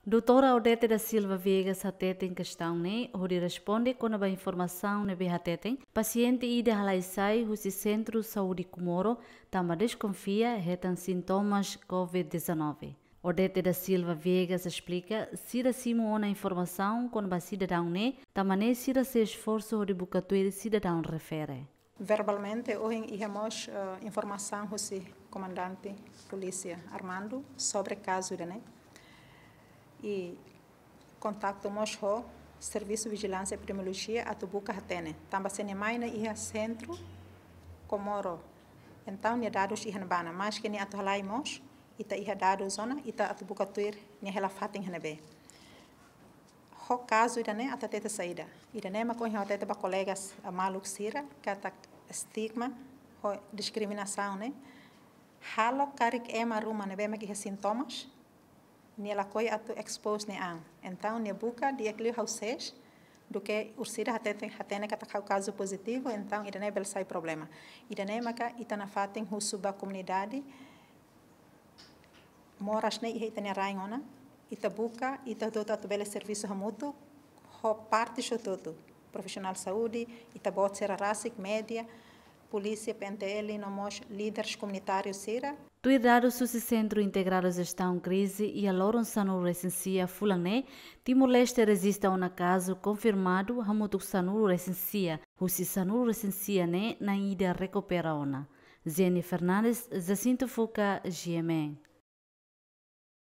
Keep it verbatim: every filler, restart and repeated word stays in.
Doutora Odete da Silva Viegas hateten kestaun ne'e hodi responde kona-ba informasaun ne'ebé hateten pasiente ida halai sai husi Sentru Saúde Comoro tanba deskonfia hetan sintomas covid dezanove. Odete da Silva Viegas esplika, sira simu ona informasaun kona-ba sidadaun ne'e, tanba ne'e sira sei esforsu hodi buka tuir sidadaun refere. Verbalmente, ohin iha mós, eh, informasaun husi Komandante Polísia Armando sobre kazu ida-ne'e. I kontaktu mós ho Servisu Vijilánsia Epidemiolojia atu buka hatene. Tanba sira-nia mai ne'e iha Sentru Comoro. Entaun, nia dadus iha ne'ebá ona. Maske nia atu halai mós, ita iha dadus ona, ita atu buka tuir nia hela fatin iha ne'ebé. Ho kazu ida-ne'e atu hatete saida. Ida-ne'e mak ohin ha'u hatete ba kolegas, ah, maluk sira, katak estigma, ho diskriminasaun ne'e halo karik ema ruma ne'ebé mak iha sintomas, nia lakohi atu expose nia an. Entaun, nia buka di'ak liu ha'u ses, duké orsida hatete, hatene katak ha'u kazu pozitivu, entaun ida-ne'e bele sai problema. Ida-ne'e maka ita nafatin husu ba komunidade, moras ne'e iha ita-nia rain ona, ita buka, ita hotu-hotu atu bele servisu hamutuk, ho parte hotu-hotu, profisionál saúde, ita-boot sira rasik, média, polísia, P N T L, no mós líderes komunitáriu sira. Tuir dadus husi Sentru Integradu Jestaun Krize, iha loron sanulu-resin-sia fulan ne'e, Timor-Leste rejista ona kazu konfirmadu hamutuk sanulu-resin-sia, husi sanulu-resin-sia ne'e na'in ida rekupera ona. Jenny Fernandes, Jacinto Fuca, G M N.